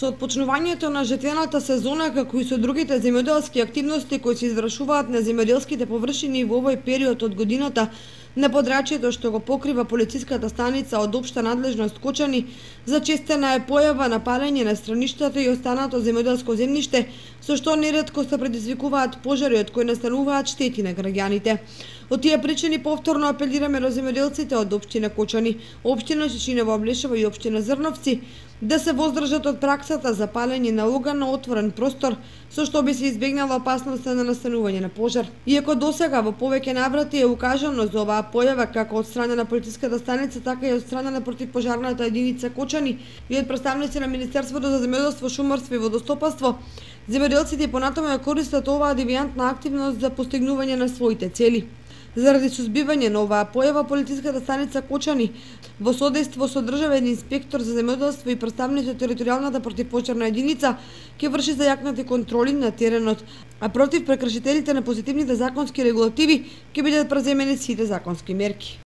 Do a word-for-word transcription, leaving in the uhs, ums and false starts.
Со отпочнувањето на жетвената сезона, како и со другите земјоделски активности кои се извршуваат на земјоделските површини во овој период од годината, на подрачјето што го покрива полициската станица од општа надлежност Кочани, зачестена е појава на палење на страништата и останато земјоделско земјиште, со што неретко се предизвикуваат пожари од кои настануваат штети на граѓаните. Од тие причини повторно апелираме до земјоделците од општина Кочани, општина Шишинево Облешево и општина Зрновци да се воздржат од праксата за палење на оган на отворен простор, со што би се избегнала опасноста на настанување на пожар. Иако досега во повеќе наврати е укажано за оваа појава како од страна на полициската станица, така и од страна на противпожарната единица Кочани и од представници на Министерството за земјоделство, шумарство и водостопанство, земјоделците понатаму ја користат оваа девијантна активност за постигнување на своите цели. Заради сузбивање на оваа појава, полициската станица Кочани во содејство со државен инспектор за земјоделство и представници од територијалната противпожарна единица ќе врши зајакнати контроли на теренот, а против прекршителите на позитивните законски регулативи ќе бидат преземени сите законски мерки.